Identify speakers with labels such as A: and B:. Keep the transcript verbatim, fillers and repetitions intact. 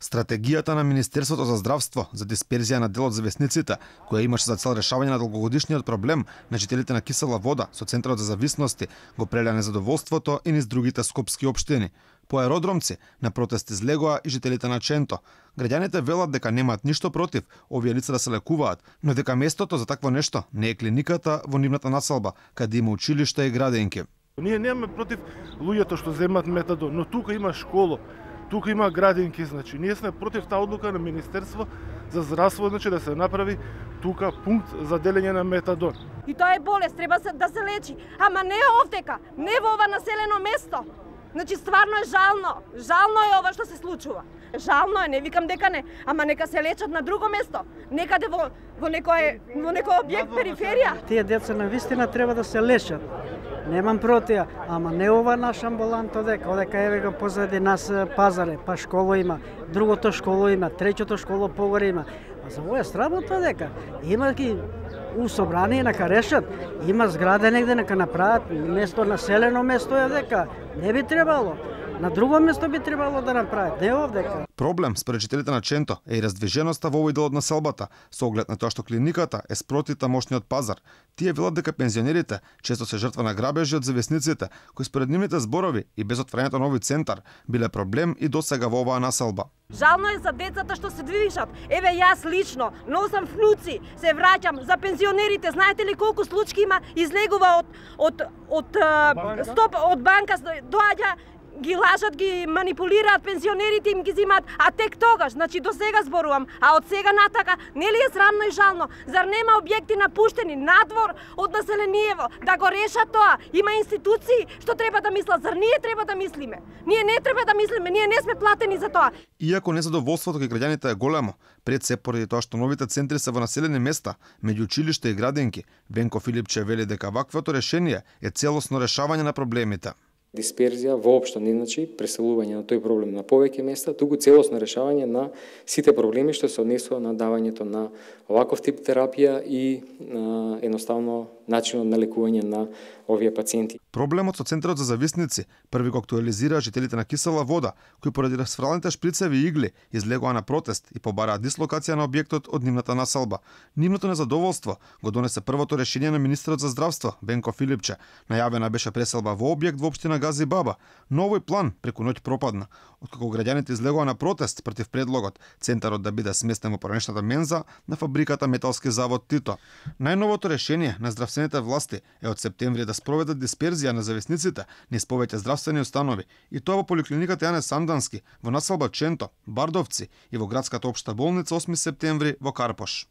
A: Стратегијата на Министерството за здравство за дисперзија на дел од зависниците, која имаше за цел решавање на долгогодишниот проблем на жителите на кисела вода со Центарот за зависности, го прелеа незадоволството и низ другите скопски општини. По аеродромци на протест излегоа и жителите на Ченто. Граѓаните велат дека немаат ништо против овие лица да се лекуваат, но дека местото за такво нешто не е клиниката во нивната населба, каде има училишта и градинки.
B: Ние немаме против луѓето што земат метадон, но тука има школа, тука има градинки, значи ние сме против таа одлука на Министерство за здравство, значи да се направи тука пункт за делење на метадон.
C: И тоа е болест, треба се да се лечи, ама не овдека, не во ова населено место. Значи стварно е жално, жално е ова што се случува. Жално е, не викам дека не, ама нека се лечат на друго место, некаде во во некој во некој објект периферија.
D: Тие деца на вистина треба да се лечат. Немам против, ама не ова наш амбулант одека, одека еве го позади нас пазаре, па школа има, другото школа има, третото школа погоре има. А за ова е срамота дека има ги у собрание нека решат, има зграда негде нека направат, место населено место е дека не би требало. На друго место би требало да направат, не овдека.
A: Проблем според жителите на Ченто е и раздвиженоста во овој дел од населбата, со оглед на тоа што клиниката е спроти тамошниот пазар. Тие велат дека пензионерите често се жртва на грабежи од зависниците, кои според нивните зборови и без отварањето на овој центар биле проблем и досега во оваа населба.
C: Жално е за децата што се движат. Еве јас лично носам внуци, се враќам. За пензионерите, знаете ли колку случаи има, излегува од од од, од стоп од банка, доаѓа, ги лажат, ги манипулираат пензионерите, им ги зимаат, а тек тогаш, значи до сега зборувам, а од сега натака, нели е срамно и жално? Зар нема објекти напуштени надвор од населението да го решат тоа? Има институции што треба да мислат, зар ние треба да мислиме? Ние не треба да мислиме, ние не сме платени за тоа.
A: Иако незадоволството кај граѓаните е големо, пред се поради тоа што новите центри се во населени места, меѓу училишта и градинки, Венко Филипче вели дека ваквото решение е целосно решавање на проблемите.
E: Дисперзија воопшто не значи преселување на тој проблем на повеќе места, туку целосно решавање на сите проблеми што се однесува на давањето на оваков тип терапија и на, едноставно начинот на лекување на овие пациенти.
A: Проблемот со Центарот за зависници први го актуализира жителите на кисела вода, кои поради расфралните шприцеви и игли излегоа на протест и побараат дислокација на објектот од нивната населба. Нивното незадоволство го донесе првото решение на министерот за здравство Венко Филипче. Најавена беше преселба во објект во општина Гази Баба, но овој план преку ноќ пропадна. Откако граѓаните излегоа на протест против предлогот центарот да биде сместен во поранешната менза на фабриката Металски завод Тито. Најновото решение на здравствените власти е од септември да спроведат дисперзија на зависниците низ повеќе здравствени установи, и тоа во поликлиниката Јане Сандански, во населба Ченто, Бардовци и во градската општа болница осми септември во Карпош.